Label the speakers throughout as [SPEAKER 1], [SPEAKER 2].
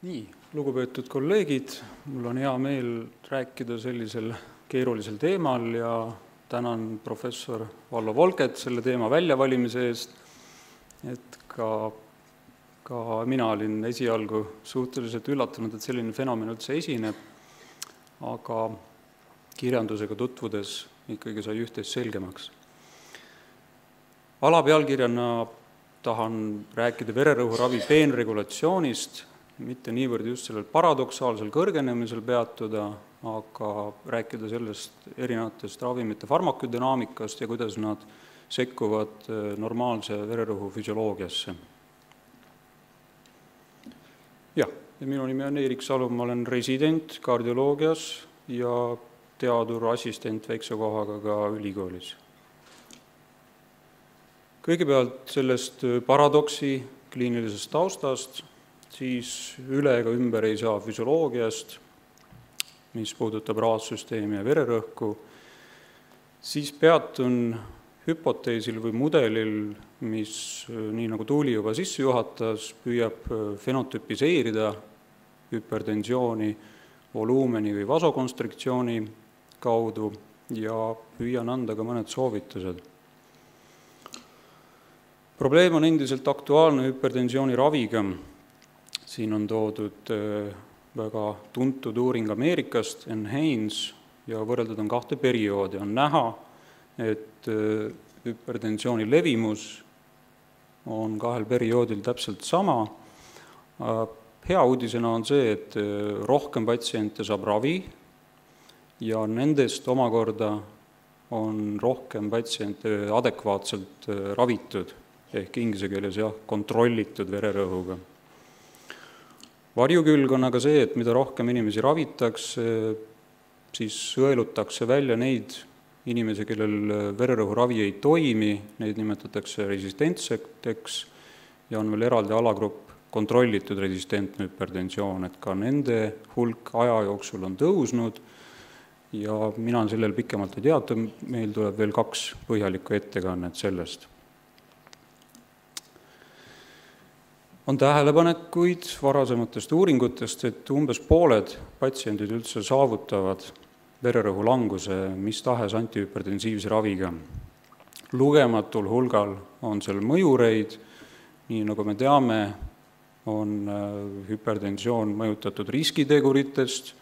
[SPEAKER 1] Nii, lugupeetud kolleegid, mul on hea meel rääkida sellisel keerulisel teemal ja tänan professor Vallo Volket selle teema väljavalimise eest, et ka mina olin esialgu suhteliselt üllatunud, et selline fenomen üldse esineb, aga kirjandusega tutvudes ikkagi sai üht-teist selgemaks. Alapealkirjana tahan rääkida vererõhuravi peenregulatsioonist, mitte niivõrd just sellel paradoksaalsel kõrgenemisel peatuda, aga rääkida sellest erinevatest ravimite farmakodünaamikast ja kuidas nad sekkuvad normaalse vererõhu füsioloogiasse. Ja minu nimi on Eerik Salum, ma olen resident kardioloogias ja teadurassistent väikse kohaga ka ülikoolis. Kõigepealt sellest paradoksi kliinilisest taustast, siis üle ega ümber ei saa füsioloogiast, mis puudutab raadsüsteemi ja vererõhku, siis peatun hüpoteesil või mudelil, mis, nii nagu Tuuli juba sisse juhatas, püüab fenotüpiseerida hüpertensiooni voluumeni või vasokonstriktsiooni kaudu ja püüan anda ka mõned soovitused. Probleem on endiselt aktuaalne hüpertensiooni raviga. Siin on toodud väga tuntud uuring Ameerikast, NHANES, ja võrreldud on 2 perioodi. On näha, et hüpertensiooni levimus on 2 perioodil täpselt sama. Hea uudisena on see, et rohkem patsiente saab ravi ja nendest omakorda on rohkem patsiente adekvaatselt ravitud, ehk inglise keeles kontrollitud vererõhuga. Varjukülg on aga see, et mida rohkem inimesi ravitakse, siis sõelutakse välja neid inimesi, kellel vererõhuravi ei toimi, neid nimetatakse resistentseteks ja on veel eraldi alagrupp kontrollitud resistentne hüpertensioon, et ka nende hulk aja jooksul on tõusnud ja mina sellel pikemalt ei teata, meil tuleb veel 2 põhjalikku ettekannet sellest. On tähelepanekuid varasematest uuringutest, et umbes pooled patsiendid üldse saavutavad vererõhu languse mis tahes antihüpertensiivse raviga. Lugematul hulgal on seal mõjureid, nii nagu me teame, on hüpertensioon mõjutatud riskiteguritest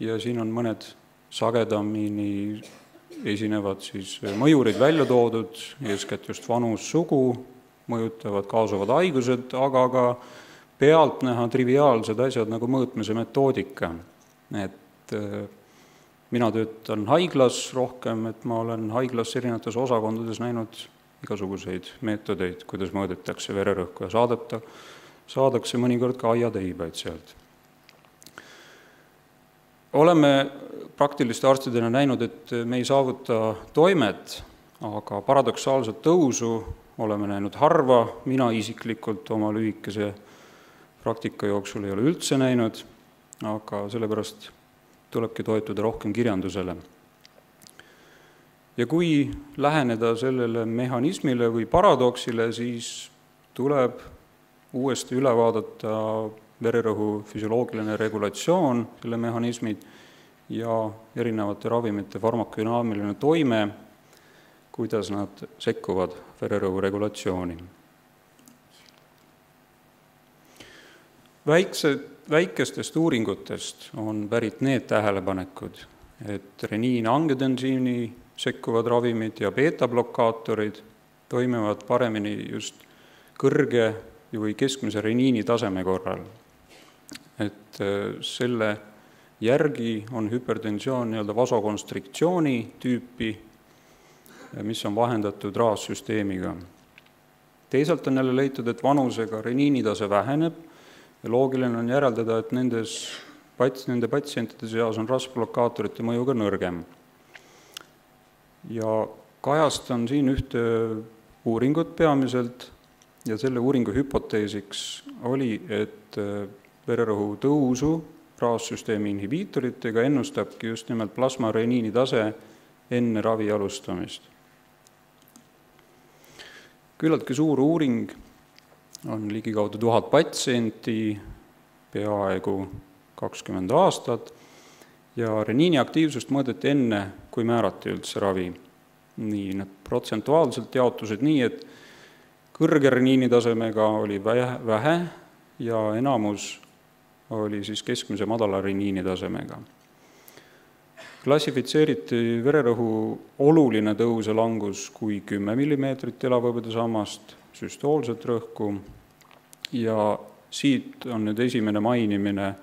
[SPEAKER 1] ja siin on mõned sagedamini esinevad siis mõjurid välja toodud, eeskätt just vanus, sugu, mõjutavad kaasuvad haigused, aga ka pealtnäha triviaalsed asjad nagu mõõtmise metoodika. Et mina töötan haiglas rohkem, et ma olen haiglas erinevates osakondades näinud igasuguseid meetodeid, kuidas mõõdetakse vererõhku ja saadakse mõnikord ka aiateibaid sealt. Oleme praktiliste arstidena näinud, et me ei saavuta toimet, aga paradoksaalset tõusu oleme näinud harva, mina isiklikult oma lühikese praktika jooksul ei ole üldse näinud, aga sellepärast tulebki toetuda rohkem kirjandusele. Ja kui läheneda sellele mehhanismile või paradoksile, siis tuleb uuesti üle vaadata vererõhu füsioloogiline regulatsioon, selle mehhanismid ja erinevate ravimite farmakodünaamiline toime, kuidas nad sekkuvad vererõhu regulatsiooni. Väikestest uuringutest on pärit need tähelepanekud, et reniin-angiotensiini sekkuvad ravimid ja beeta-blokaatorid toimivad paremini just kõrge või keskmise reniini taseme korral. Et selle järgi on hüpertensioon vasokonstriktsiooni tüüpi, mis on vahendatud raassüsteemiga. Teisalt on jälle leitud, et vanusega reniinitase väheneb ja loogiline on järeldada, et nende patsientide seas on rasvblokaatorite mõju ka nõrgem. Ja kajastan siin ühte uuringut peamiselt ja selle uuringu hüpoteesiks oli, et vererõhu tõusu raassüsteemi inhibiitoritega ennustabki just nimelt plasmareniinitase enne ravi alustamist. Küllaltki suur uuring on ligikaudu 1000 patsienti peaaegu 20 aastat ja reniini aktiivsust mõõdeti enne, kui määrati üldse ravi. Nii, need protsentuaalselt jaotused nii, et kõrge reniini tasemega oli vähe ja enamus oli siis keskmise madala reniini tasemega. Klassifitseeriti vererõhu oluline tõus ja langus kui 10 mm elavhõbeda sammast, süstoolset rõhku ja siit on nüüd esimene mainimine,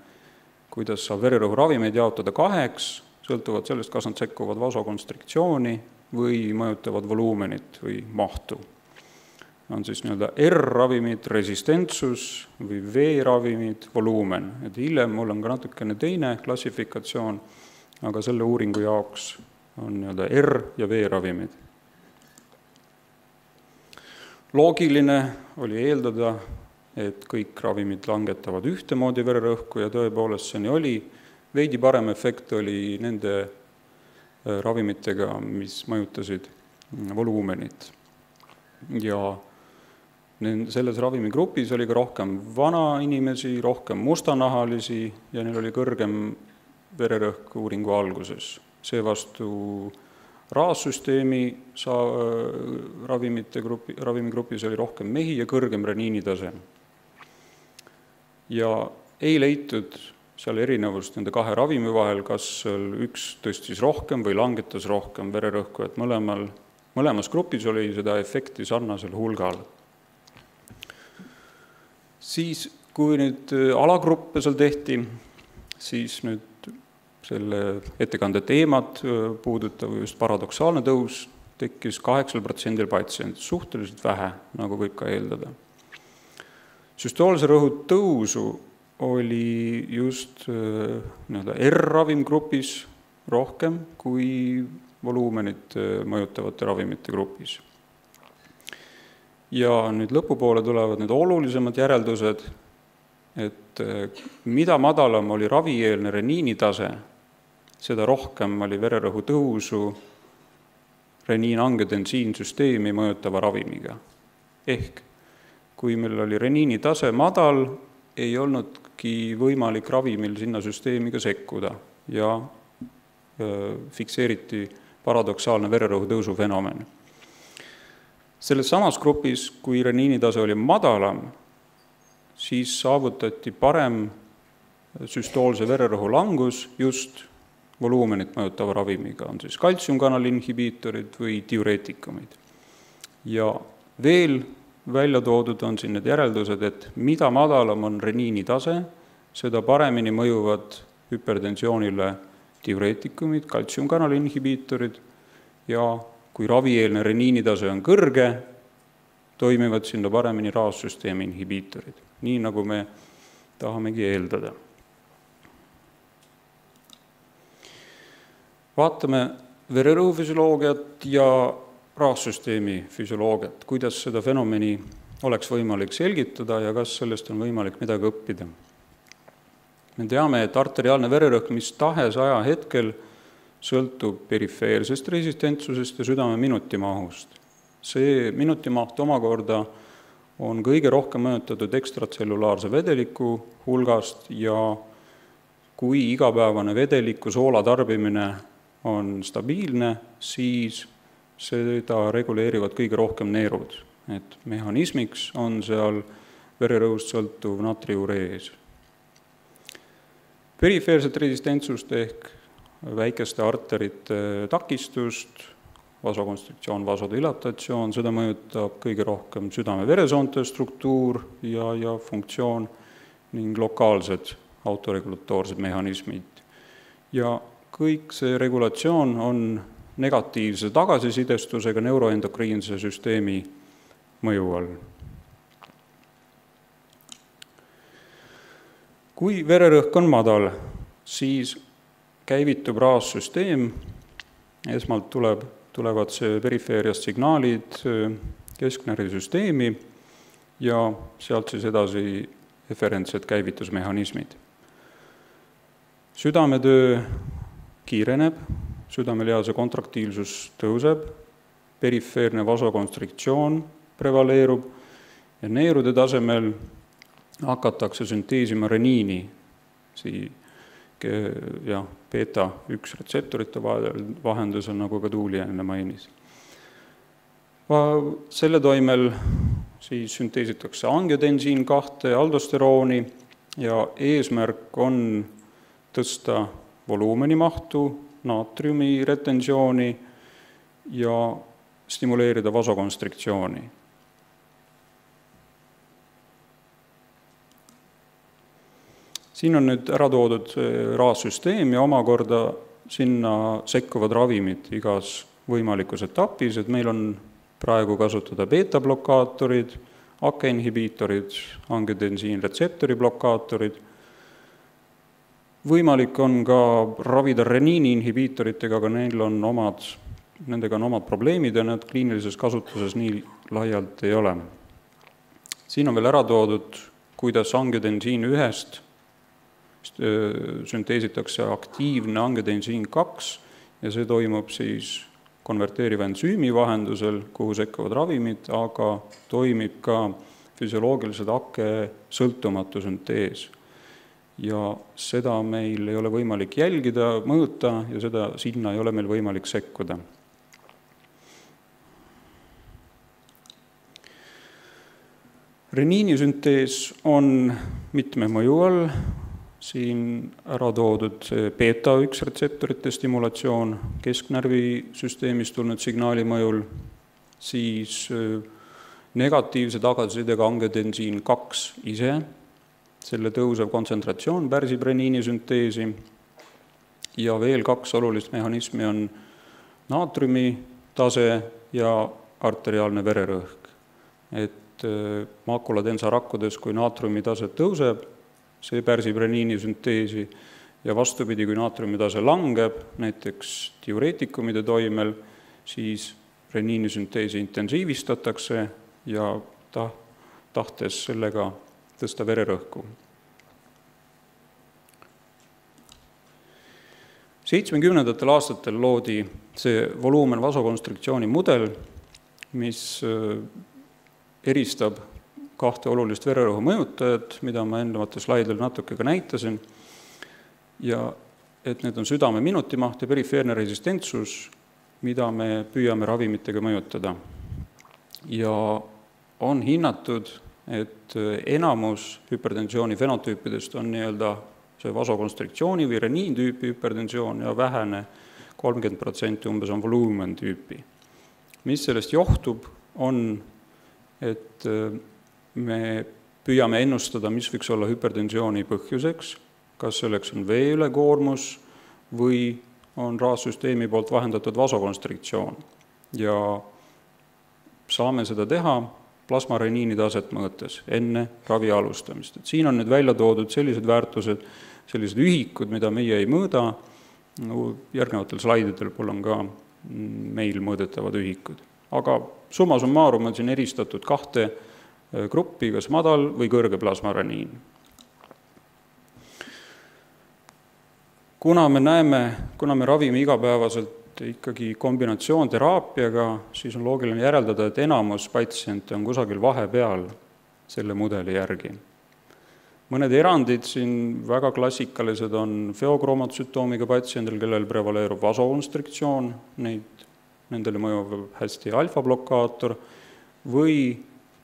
[SPEAKER 1] kuidas saab vererõhu ravimeid jaotada 2, sõltuvad sellest, kas nad sekkuvad vasokonstriktsiooni või mõjutavad voluumenit või mahtu. On siis nii-öelda R-ravimid, resistentsus või V-ravimid, voluumen. Et hiljem mul on ka natukene teine klassifikatsioon, aga selle uuringu jaoks on nii-öelda R- ja V-ravimid. Loogiline oli eeldada, et kõik ravimid langetavad ühtemoodi vererõhku ja tõepoolest see nii oli. Veidi parem efekt oli nende ravimitega, mis mõjutasid voluumenit. Ja selles ravimigrupis oli ka rohkem vana inimesi, rohkem mustanahalisi ja neil oli kõrgem vererõhk uuringu alguses. Seevastu raassüsteemi ravimigrupis oli rohkem mehi ja kõrgem reniini tase. Ja ei leitud seal erinevust nende 2 ravimi vahel, kas üks tõstis rohkem või langetas rohkem vererõhku, et mõlemas grupis oli seda efekti sarnasel hulgal. Siis, kui nüüd alagruppe seal tehti, siis nüüd selle ettekande teemad puudutav just paradoksaalne tõus tekkis 8% patsiendid, suhteliselt vähe, nagu võib ka eeldada. Süstoolse rõhu tõusu oli just R-ravimgrupis rohkem kui voluumenit mõjutavate ravimite grupis. Ja nüüd lõpupoole tulevad need olulisemad järeldused, et mida madalam oli ravieelne reniini tase, seda rohkem oli vererõhu tõusu reniin-angiotensiinsüsteemi mõjutava ravimiga. Ehk kui meil oli reniini tase madal, ei olnudki võimalik ravimil sinna süsteemiga sekkuda ja fikseeriti paradoksaalne vererõhu tõusu fenomen. Selles samas grupis, kui reniini tase oli madalam, siis saavutati parem süstoolse vererõhu langus just voluumenit mõjutava ravimiga, on siis kaltsiumkanali inhibiitorid või diureetikumid. Ja veel välja toodud on siin need järeldused, et mida madalam on reniini tase, seda paremini mõjuvad hüpertensioonile diureetikumid, kaltsiumkanali inhibiitorid ja kui ravieelne reniini tase on kõrge, toimivad sinna paremini raassüsteemi inhibiitorid, nii nagu me tahamegi eeldada. Vaatame vererõhu füsioloogiat ja raassüsteemi füsioloogiat, kuidas seda fenomeni oleks võimalik selgitada ja kas sellest on võimalik midagi õppida. Me teame, et arteriaalne vererõhk mis tahes ajahetkel sõltub perifeersest resistentsusest ja südame minutimahust. See minutimaht omakorda on kõige rohkem mõjutatud ekstratsellulaarse vedeliku hulgast ja kui igapäevane vedeliku soola tarbimine on stabiilne, siis seda reguleerivad kõige rohkem neerud. Et mehhanismiks on seal vererõhust sõltuv natriurees. Perifeerset resistentsust ehk väikeste arterite takistust, vasokonstriktsioon, vasodilatatsioon, seda mõjutab kõige rohkem südame-veresoonte struktuur ja funktsioon ning lokaalsed autoregulatoorsed mehhanismid. Ja kõik see regulatsioon on negatiivse tagasisidestusega neuroendokriinse süsteemi mõju all. Kui vererõhk on madal, siis käivitub raassüsteem, esmalt tulevad perifeeriast signaalid kesknärvisüsteemi ja sealt siis edasi eferentsed käivitusmehhanismid. Südametöö kiireneb, südamelihase kontraktiilsus tõuseb, perifeerne vasokonstriktsioon prevaleerub ja neerude tasemel hakatakse sünteesima reniini, beta-1 retseptorite vahendusel, nagu ka Tuuli enne mainis. Selle toimel siis sünteesitakse angiotensiin 2, aldosterooni ja eesmärk on tõsta voluumeni mahtu, naatriumi retensiooni ja stimuleerida vasokonstriktsiooni. Siin on nüüd ära toodud raassüsteem ja omakorda sinna sekkuvad ravimid igas võimalikus etapis, et meil on praegu kasutada beta-blokaatorid, AKE-inhibiitorid, angiotensiin retseptori blokaatorid. Võimalik on ka ravida reniini inhibiitoritega, aga nendega on omad probleemid ja need kliinilises kasutuses nii laialt ei ole. Siin on veel ära toodud, kuidas angiotensiin 1 sünteesitakse aktiivne angiotensiin 2 ja see toimub siis konverteeriva ensüümi vahendusel, kuhu sekkuvad ravimid, aga toimib ka füsioloogilised AKE sõltumatu süntees. Ja seda meil ei ole võimalik jälgida, mõõta ja sinna ei ole meil võimalik sekkuda. Reniinisüntees on mitme mõju all, siin ära toodud beta-1 retseptorite stimulatsioon kesknärvisüsteemist tulnud signaali mõjul, siis negatiivse tagasisidega angiotensiin 2 ise, selle tõusev kontsentratsioon pärsib reniinisünteesi ja veel 2 olulist mehhanismi on naatriumi tase ja arteriaalne vererõhk. Et makulatensarakkudes, kui naatriumi tase tõuseb, see pärsib reniinisünteesi ja vastupidi, kui naatriumi tase langeb, näiteks diureetikumide toimel, siis reniinisünteesi intensiivistatakse ja tahtes sellega tõsta vererõhku. 70. aastatel loodi see voluumen vasokonstriktsiooni mudel, mis eristab 2 olulist vererõhu mõjutajat, mida ma eelnevatel slaidil natuke ka näitasin, ja et need on südame minutimaht ja perifeerne resistentsus, mida me püüame ravimitega mõjutada. Ja on hinnatud, et enamus hüpertensiooni fenotüüpidest on see vasokonstriktsiooni või reniintüüpi hüpertensioon ja vähene 30% umbes on voluumen tüüpi. Mis sellest johtub, on, et me püüame ennustada, mis võiks olla hüpertensiooni põhjuseks, kas selleks on vee ülekoormus või on raassüsteemi poolt vahendatud vasokonstriktsioon. Ja saame seda teha plasmareniini taset mõõtes enne ravi alustamist. Et siin on nüüd välja toodud sellised väärtused, sellised ühikud, mida meie ei mõõda. Järgnevatel slaididel on ka meil mõõdetavad ühikud. Aga summa summarum on siin eristatud 2 gruppi, kas madal või kõrge plasmareniin. Kuna me ravime igapäevaselt ikkagi kombinatsioonteraapiaga, siis on loogiline järeldada, et enamus patsiente on kusagil vahepeal selle mudeli järgi. Mõned erandid siin väga klassikalised on feokromatotsütoomiga patsiendil, kellel prevaleerub vasokonstriktsioon, nendele mõjub hästi alfa-blokaator, või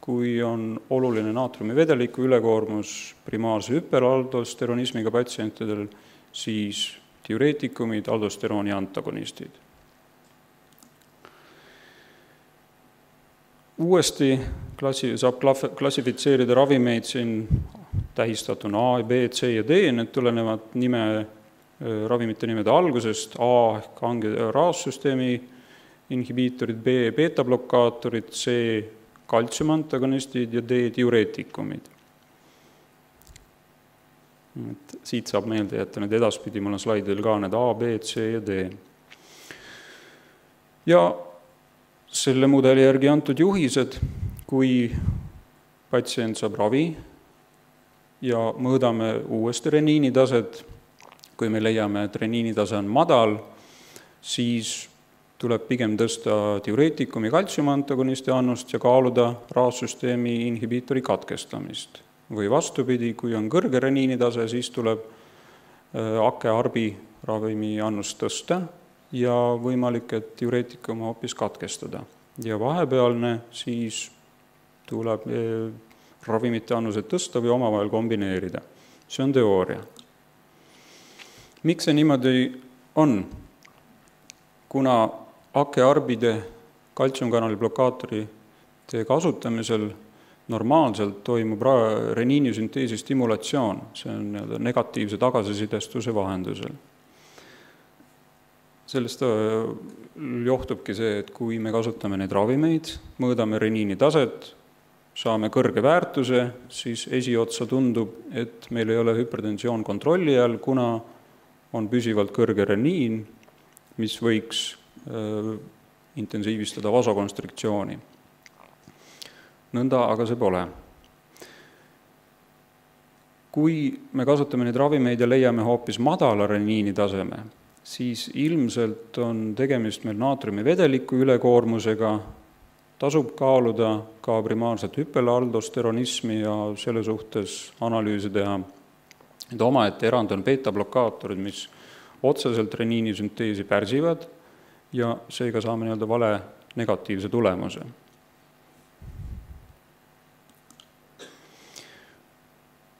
[SPEAKER 1] kui on oluline naatriumi vedeliku ülekoormus primaarse hüperaldosteronismiga patsientidel, siis diureetikumid, aldosterooni antagonistid. Uuesti saab klassifitseerida ravimeid siin tähistatuna A, B, C ja D, need tulenevad ravimite nimede algusest, A ehk raassüsteemi inhibiitorid, B beta-blokaatorid, C kaltsiumantagonistid ja D diureetikumid. Siit saab meelde jätta need edaspidi, mul on slaidil ka need A, B, C ja D. Ja selle mudeli järgi antud juhised, kui patsient saab ravi ja mõõdame uuesti reniinitaset, kui me leiame, et reniinitase on madal, siis tuleb pigem tõsta diureetikumi kaltsiumantagonisti annust ja kaaluda raassüsteemi inhibiitori katkestamist. või vastupidi, kui on kõrge reniinitase, siis tuleb AKE-ARBi ravimi annust tõsta ja võimalik, et diureetikum hoopis katkestada. Ja vahepealne siis tuleb ravimite annused tõsta või omavahel kombineerida. See on teooria. Miks see niimoodi on? Kuna AKE-ARBide kaltsiumkanali blokaatorite kasutamisel normaalselt toimub reniinisünteesi stimulatsioon, see on negatiivse tagasisidestuse vahendusel. Sellest johtubki see, et kui me kasutame neid ravimeid, mõõdame reniini taset, saame kõrge väärtuse, siis esiotsa tundub, et meil ei ole hüpertensioon kontrolli all, kuna on püsivalt kõrge reniin, mis võiks intensiivistada vasokonstriktsiooni. Nõnda aga see pole. Kui me kasutame neid ravimeid ja leiame hoopis madala reniini taseme, siis ilmselt on tegemist meil naatriumi vedeliku ülekoormusega, tasub kaaluda ka primaarset hüpelaaldosteronismi ja selle suhtes analüüsi teha. Et omaette erand on beta-blokaatorid, mis otseselt reniinisünteesi pärsivad ja seega saame vale negatiivse tulemuse.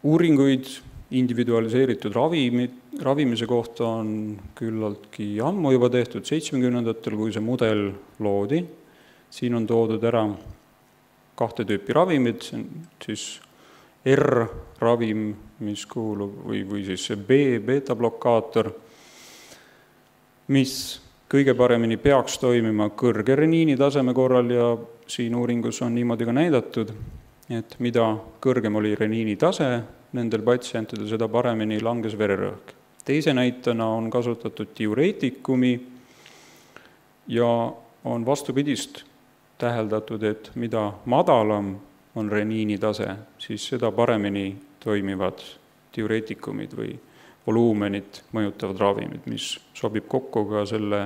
[SPEAKER 1] Uuringuid individualiseeritud ravimise kohta on küllaltki ammu juba tehtud, 70-ndatel, kui see mudel loodi. Siin on toodud ära 2 tüüpi ravimid, see on siis R-ravim, mis kuulub, või siis see beta-blokaator, mis kõige paremini peaks toimima kõrge reniini taseme korral ja siin uuringus on niimoodi ka näidatud, et mida kõrgem oli reniini tase, nendel patsientidel seda paremini langes vererõhk. Teise näitena on kasutatud diureetikumi ja on vastupidist täheldatud, et mida madalam on reniini tase, siis seda paremini toimivad diureetikumid või voluumenit mõjutavad ravimid, mis sobib kokku ka selle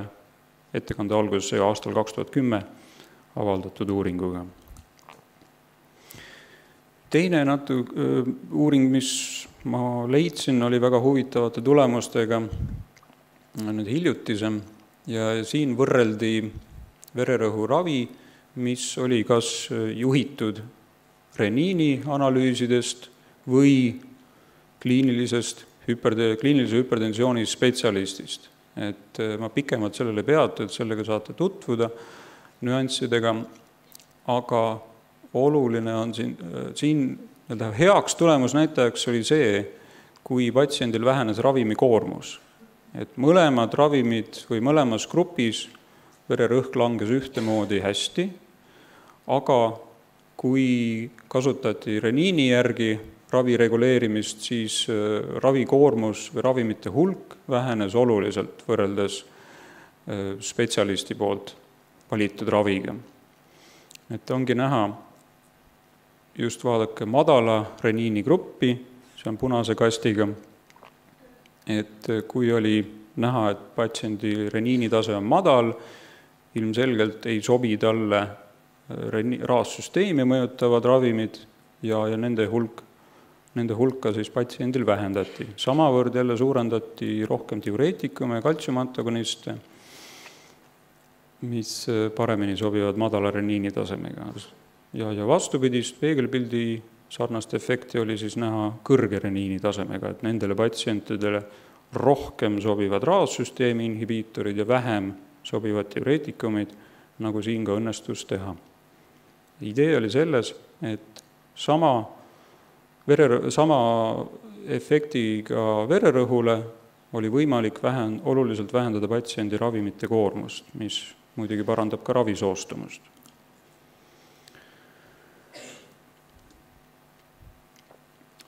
[SPEAKER 1] ettekande alguses aastal 2010 avaldatud uuringuga. Teine uuring, mis ma leidsin, oli väga huvitavate tulemustega nüüd hiljutisem ja siin võrreldi vererõhuravi, mis oli kas juhitud reniini analüüsidest või kliinilise hüpertensiooni spetsialistist. Et ma pikemalt sellele peatu, et sellega saate tutvuda nüanssidega, aga oluline on siin heaks tulemusnäitajaks oli see, kui patsiendil vähenes ravimi koormus. Et mõlemad ravimid või mõlemas grupis vererõhk langes ühtemoodi hästi, aga kui kasutati reniini järgi ravi reguleerimist, siis ravikoormus või ravimite hulk vähenes oluliselt võrreldes spetsialisti poolt valitud raviga. Et ongi näha, just vaadake madala reniini gruppi, see on punase kastiga, et kui oli näha, et patsiendi reniinitase on madal, ilmselgelt ei sobi talle raassüsteemi mõjutavad ravimid ja nende hulka siis patsiendil vähendati. Samavõrd jälle suurendati rohkem diureetikume ja kaltsiumantagoniste, mis paremini sobivad madala reniini tasemega. Ja vastupidist peegelpildi sarnast efekti oli siis näha kõrge reniini tasemega, et nendele patsientidele rohkem sobivad raassüsteemi inhibiitorid ja vähem sobivad diureetikumid, nagu siin ka õnnestus teha. Idee oli selles, et sama efektiga vererõhule oli võimalik oluliselt vähendada patsiendi ravimite koormust, mis muidugi parandab ka ravisoostumust.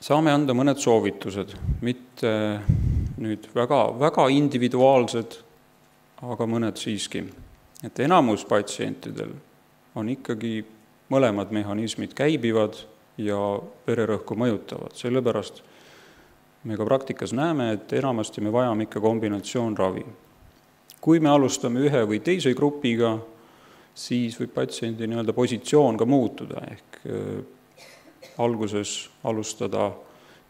[SPEAKER 1] Saame anda mõned soovitused, mitte nüüd väga individuaalsed, aga mõned siiski. Et enamus patsientidel on ikkagi mõlemad mehhanismid käibivad ja vererõhku mõjutavad. Sellepärast me ka praktikas näeme, et enamasti me vajame ikka kombinatsioonravi. Kui me alustame ühe või teise grupiga, siis võib patsiendi positsioon ka muutuda, ehk alguses alustada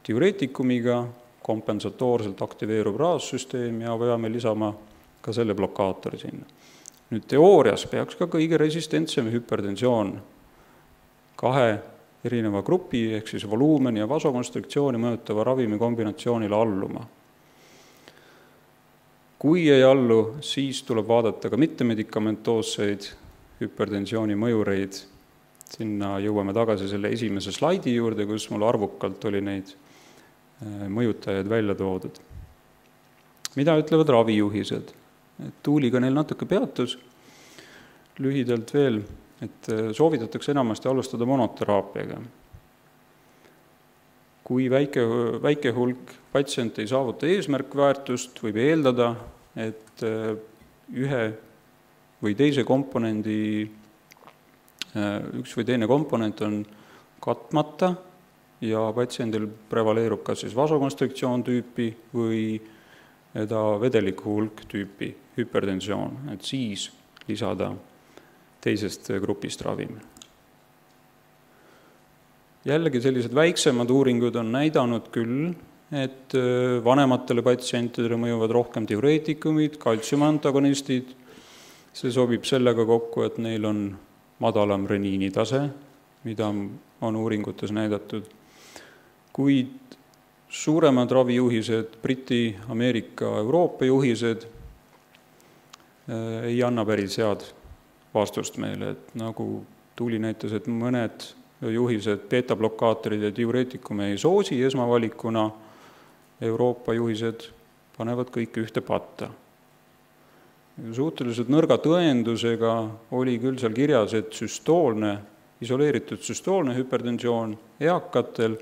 [SPEAKER 1] diureetikumiga, kompensatoorselt aktiveerub raassüsteem ja peame lisama ka selle blokaatori sinna. Nüüd teoorias peaks ka kõige resistentsem hüpertensioon 2 erineva grupi, ehk siis voluumeni ja vasokonstriktsiooni mõjutava ravimi kombinatsioonile alluma. Kui ei allu, siis tuleb vaadata ka mittemedikamentoosseid hüpertensiooni mõjureid. Sinna jõuame tagasi selle esimese slaidi juurde, kus mul arvukalt oli neid mõjutajaid välja toodud. Mida ütlevad ravijuhised? Tuuli ka neil natuke peatus. Lühidalt veel, et soovitatakse enamasti alustada monoteraapiaga. Kui väike hulk patsient ei saavuta eesmärkväärtust, võib eeldada, et ühe või teise komponendi, üks või teine komponent on katmata ja patsiendil prevaleerub kas siis vasokonstriktsioon tüüpi või vedeliku hulk tüüpi hüpertensioon, et siis lisada teisest grupist ravim. Jällegi sellised väiksemad uuringud on näidanud küll, et vanematele patsientidele mõjuvad rohkem diureetikumid, kaltsiumantagonistid. See sobib sellega kokku, et neil on madalam reniinitase, mida on uuringutes näidatud. Kuid suuremad ravijuhised, Briti, Ameerika, Euroopa juhised ei anna päris head vastust meile, et nagu Tuuli näitas, et mõned juhised, beta-blokaatorid ja diureetikume ei soosi esmavalikuna, Euroopa juhised panevad kõik ühte patta. Suhteliselt nõrga tõendusega oli küll seal kirjas, et isoleeritud süstoolne hüpertensioon eakatel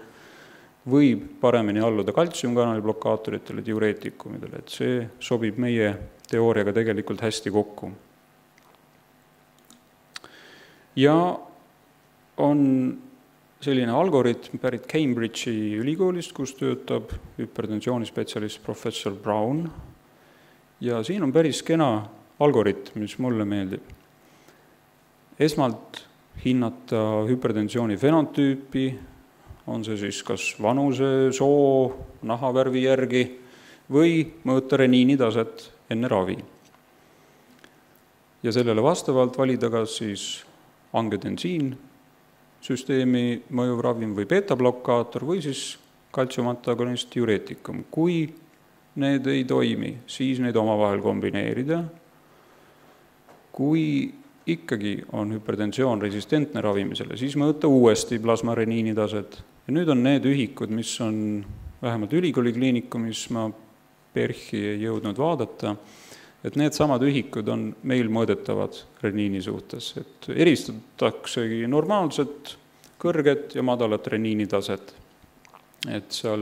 [SPEAKER 1] võib paremini alluda kaltsiumkanali blokaatoritele, diureetikumidele, et see sobib meie teooriaga tegelikult hästi kokku. Ja on selline algoritm pärit Cambridge'i ülikoolist, kus töötab hüpertensioonispetsialist professor Brown. Ja siin on päris kena algoritm, mis mulle meeldib. Esmalt hinnata hüpertensiooni fenotüüpi, on see siis kas vanuse, soo, nahavärvi järgi või mõõta reniinitaset enne ravi. Ja sellele vastavalt valida kas siis angiotensiin, süsteemi mõjuv ravim või beta-blokaator või siis kaltsiumantagonist diureetikum. Kui need ei toimi, siis neid omavahel kombineerida. Kui ikkagi on hüpertensioon resistentne ravimisele, siis mõõta uuesti plasmareniinitaset. Ja nüüd on need ühikud, mis on vähemalt ülikooli kliinikumis, ma PERHi ei jõudnud vaadata, et need samad ühikud on meil mõõdetavad reniini suhtes, et eristataksegi normaalset, kõrget ja madalat reniinitaset. Et seal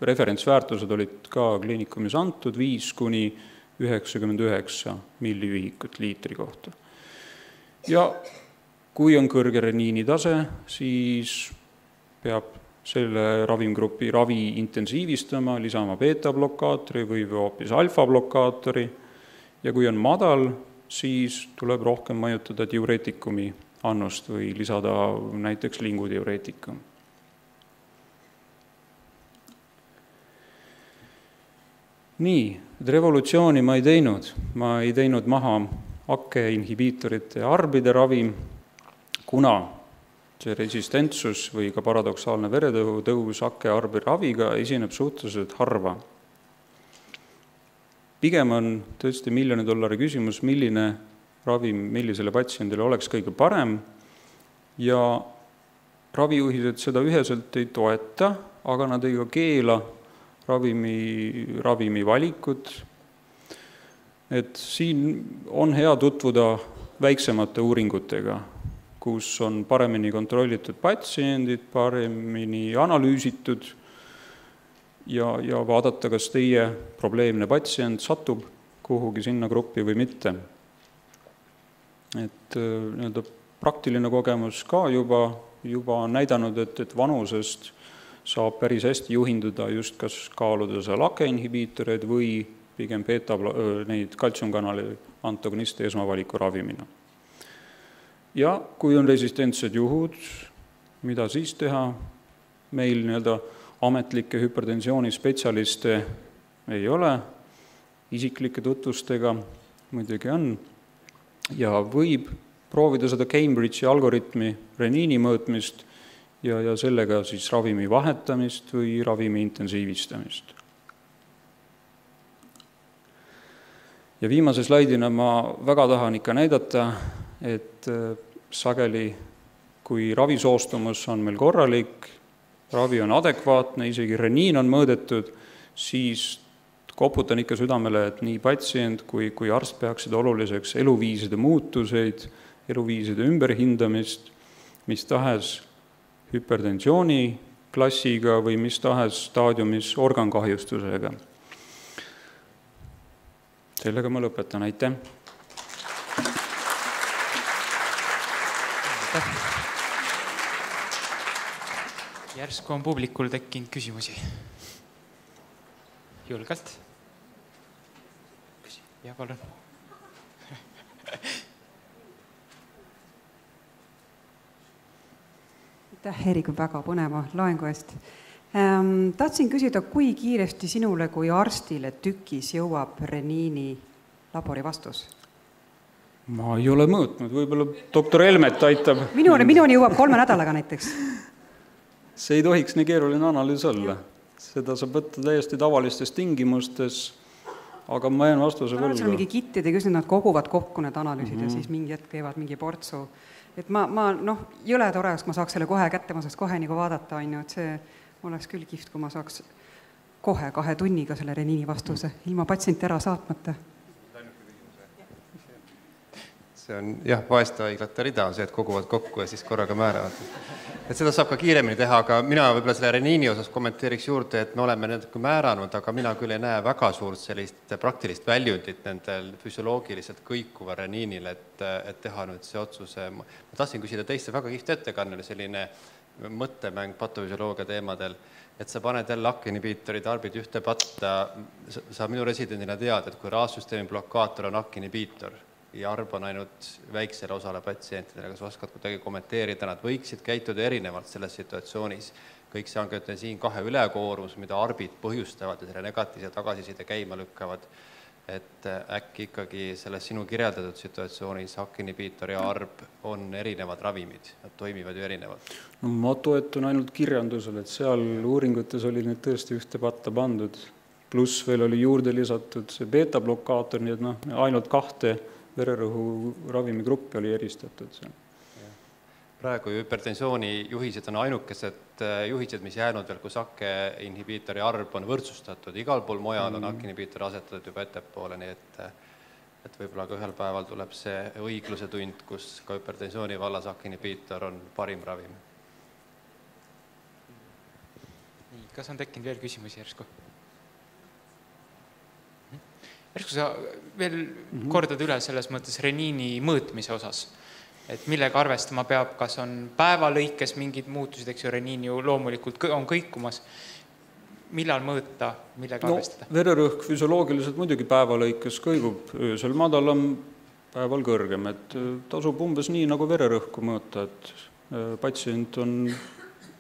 [SPEAKER 1] referentsväärtused olid ka kliinikumis antud 5–99 milliühikut liitri kohta. Ja kui on kõrge reniinitase, siis peab selle ravimgrupi ravi intensiivistama, lisama beta-blokaatori või hoopis alfa-blokaatori. Ja kui on madal, siis tuleb rohkem mõjutada diureetikumi annust või lisada näiteks lingudiureetikum. Nii, revolutsiooni ma ei teinud maha AKE inhibiitorite ja arbide ravi, kuna see resistentsus või ka paradoksaalne veretõus AKE arbi raviga esineb suhteliselt harva. Pigem on tõesti $1 miljoni küsimus, milline ravim millisele patsiendile oleks kõige parem ja ravijuhised seda üheselt ei toeta, aga nad ei keela ravimi valikut. Et siin on hea tutvuda väiksemate uuringutega, kus on paremini kontrollitud patsiendid, paremini analüüsitud ja vaadata, kas teie probleemne patsient satub kuhugi sinna gruppi või mitte. Et praktiline kogemus ka juba on näidanud, et vanusest saab päris hästi juhinduda just kas kaaluda seal AKE inhibiitoreid või pigem neid kaltsiumkanali antagoniste esmavaliku ravimina. Ja kui on resistentsed juhud, mida siis teha? Meil nii-öelda ametlikke hüpertensiooni spetsialiste ei ole, isiklike tutvustega muidugi on, ja võib proovida seda Cambridge'i algoritmi reniini mõõtmist ja sellega siis ravimi vahetamist või ravimi intensiivistamist. Ja viimase slaidina ma väga tahan ikka näidata, et sageli, kui ravisoostumus on meil korralik, ravi on adekvaatne, isegi reniin on mõõdetud, siis koputan ikka südamele, et nii patsient kui arst peaksid oluliseks eluviiside muutuseid, eluviiside ümberhindamist, mis tahes hüpertensiooni klassiga või mis tahes staadiumis organkahjustusega. Sellega ma lõpetan, aitäh!
[SPEAKER 2] Järsku on publikul tekkinud küsimusi. Julgelt. Ja palun.
[SPEAKER 3] Aitäh, Erik, väga põneva loengu eest. Tahtsin küsida, kui kiiresti sinule kui arstile tükis jõuab reniini labori vastus?
[SPEAKER 1] Ma ei ole mõõtnud, võib-olla doktor Helmet aitab.
[SPEAKER 3] Minuni jõuab 3 nädalaga näiteks.
[SPEAKER 1] See ei tohiks nii keeruline analüüs olla. Seda saab võtta täiesti tavalistes tingimustes, aga ma jään vastuse võlgu.
[SPEAKER 3] See on mingi kittide küsimus, nad koguvad kokku need analüüsid ja siis mingi hetk teevad mingi portsu. Et ma jõle tore, ma saaks selle kohe kätte, ma saaks kohe nagu vaadata, et see oleks küll kihvt, kui ma saaks kohe 2 tunniga selle reniini vastuse, ilma patsienti ära saatmata.
[SPEAKER 4] See on vaeste haiglate rida on see, et koguvad kokku ja siis korraga määravad. Et seda saab ka kiiremini teha, aga mina võib-olla selle reniini osas kommenteeriks juurde, et me oleme natuke määranud, aga mina küll ei näe väga suurt sellist praktilist väljundit nendel füsioloogiliselt kõikuva reniinil, et teha nüüd see otsuse. Ma tahtsin küsida teiste väga kihvt ettekanne, selline mõttemäng patofüsioloogia teemadel, et sa paned jälle AK-inhibiitorid, arbid ühte patta, sa minu residendina tead, et kui raassüsteemi blokaator on AK-inhibiitor ja arb on ainult väiksele osale patsientidele, kas oskad kuidagi kommenteerida, nad võiksid käituda erinevalt selles situatsioonis. Kõik see on siin 2 ülekoormus, mida arbid põhjustavad ja selle negatiivse tagasiside käima lükkavad, et äkki ikkagi selles sinu kirjeldatud situatsioonis AK-inhibiitor ja arb on erinevad ravimid, nad toimivad ju erinevalt.
[SPEAKER 1] No, ma toetun ainult kirjandusel, et seal uuringutes oli need tõesti ühte patta pandud, pluss veel oli juurde lisatud see beta-blokaator, nii et ainult 2 vererõhu ravimigruppi oli eristatud.
[SPEAKER 4] Praegu hüpertensiooni juhised on ainukesed juhised, mis jäänud veel, kus AK-inhibiitori arb on võrdsustatud. Igal pool mujal on AK-inhibiitor asetatud juba ettepoole, nii et võib-olla ka ühel päeval tuleb see õigluse tund, kus ka hüpertensiooni vallas AK-inhibiitor on parim ravim.
[SPEAKER 2] Kas on tekkinud veel küsimusi järsku? Järsku sa veel kordad üle selles mõttes reniini mõõtmise osas, et millega arvestama peab, kas on päeva lõikes mingid muutused, eks ju, reniin ju loomulikult on kõikumas, millal mõõta, millega arvestada?
[SPEAKER 1] Vererõhk füsioloogiliselt muidugi päeva lõikes kõigub öösel madalam, päeval kõrgem, et tasub umbes nii nagu vererõhku mõõta, et patsient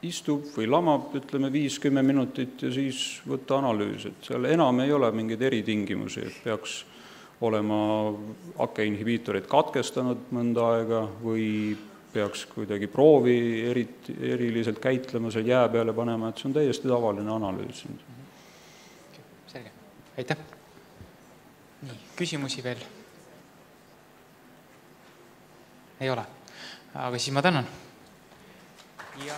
[SPEAKER 1] istub või lamab, ütleme 5-10 minutit ja siis võtta analüüs, et seal enam ei ole mingeid eritingimusi, et peaks olema AK-inhibiitorid katkestanud mõnda aega või peaks kuidagi proovi eriliselt käitlema, seal jää peale panema, et see on täiesti tavaline analüüs.
[SPEAKER 2] Selge, aitäh. Nii, küsimusi veel? Ei ole, aga siis ma tänan. Ja